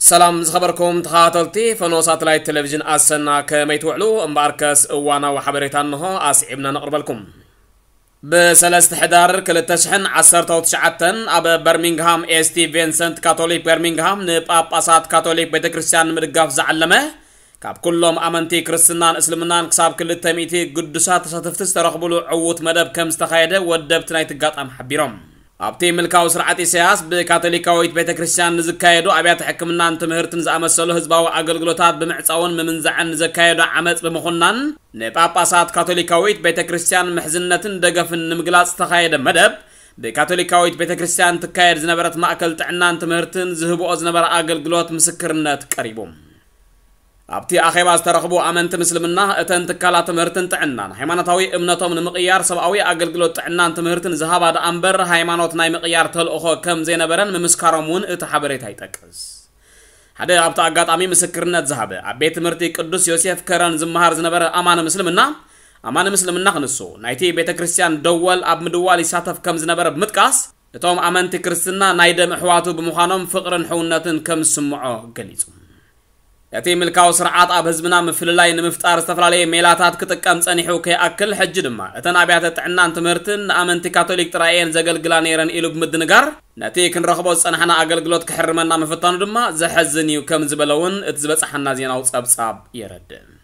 ሰላም ዝኸበርኩም ተኸታተልቲ ፈኖ ሳተላይት ቴሌቪዥን ኣሰና፣ ከመይ ትውዕሉ? እምበኣርከስ እዋናዊ ሓበሬታ እንሆ ኣስዒብና ነቕርበልኩም። ብሰለስተ ሕዳር ክልተ ሽሕን ዓሰርተው ትሽዓተን ኣብ በርሚንግሃም ኤስቲ ቪንሰንት ካቶሊክ በርሚንግሃም ንጳጳሳት ካቶሊክ ቤተክርስትያን ንምድጋፍ ዝዓለመ ካብ ኩሎም ኣመንቲ ክርስትናን እስልምናን ክሳብ ክልተ ሚእቲ ግዱሳት ተሳተፍቲ ዝተረኽብሉ ዕዉት መደብ ከም ዝተኻየደ ወደብቲ ናይቲ ኣጋጣሚ ሓቢሮም። ኣብቲ ምልካዊ ስርዓት ኢሳያስ ብካቶሊካዊት ቤተክርስትያን ንዝካየዱ ኣብያተ ሕክምናን ትምህርትን ዝኣመሰሉ ህዝባዊ ኣገልግሎታት ብምዕጻውን ምምንዛዕን ንዘካየዱ ዓመጽ ብምኹናን ንጳጳሳት ካቶሊካዊት ቤተክርስትያን ምሕዝነትን ደገፍን ንምግላጽ ዝተኻየደ መደብ ብካቶሊካዊት ቤተክርስትያን ትካየድ ዝነበረት ማእከል ጥዕናን ትምህርትን ዝህብኦ ዝነበረ ኣገልግሎት ምስክርነት ቀሪቡ። ኣብቲ ኣኼባ ዝተረኽቡ ኣመንቲ ምስልምና እተን ትካላት ትምህርትን ጥዕናን ሃይማኖታዊ እምነቶም ንምቕያር ሰብኣዊ ኣገልግሎት ጥዕናን ትምህርትን ዝሃባ ደኣ እምበር ሃይማኖት ናይ ምቕያር ተልእኾ ከም ዘይነበረን ምምስካሮም እውን እቲ ሓበሬታ ይጠቅስ። ሓደ ኣብቲ ኣጋጣሚ ምስክርነት ዝሃበ ኣብ ቤት ትምህርቲ ቅዱስ ዮሴፍ ከረን ዝመሃር ዝነበረ ኣማኒ ምስልምና ኣማኒ ምስልምና ክንሱ ናይቲ ቤተ ክርስቲያን ደወል ኣብ ምድዋል ይሳተፍ ከም ዝነበረ ብምጥቃስ እቶም ኣመንቲ ክርስትና ናይ ደም ኣሕዋቱ ብምዃኖም ፍቕርን ሕውነትን ከም ዝስምዖ ገሊጹ። እቲ ምልካዊ ስርዓት ኣብ ህዝብና ምፍልላይ ንምፍጣር ዝተፈላለየ ሜላታት ክጥቀም ጸኒሑ ከይኣክል ሕጂ ድማ እተን ኣብያተ ጥዕናን ትምህርትን ንኣመንቲ ካቶሊክ ጥራይ እየን ዘገልግላ ነይረን ኢሉ ብምድንጋር ነቲ ክንረኽቦ ዝጸናሕና ኣገልግሎት ክሕርመና ምፍታኑ ድማ ዘሐዝን እዩ ከም ዝበለ እውን እቲ ዝበጻሓና ዜናዊ ጸብጻብ የረድእ።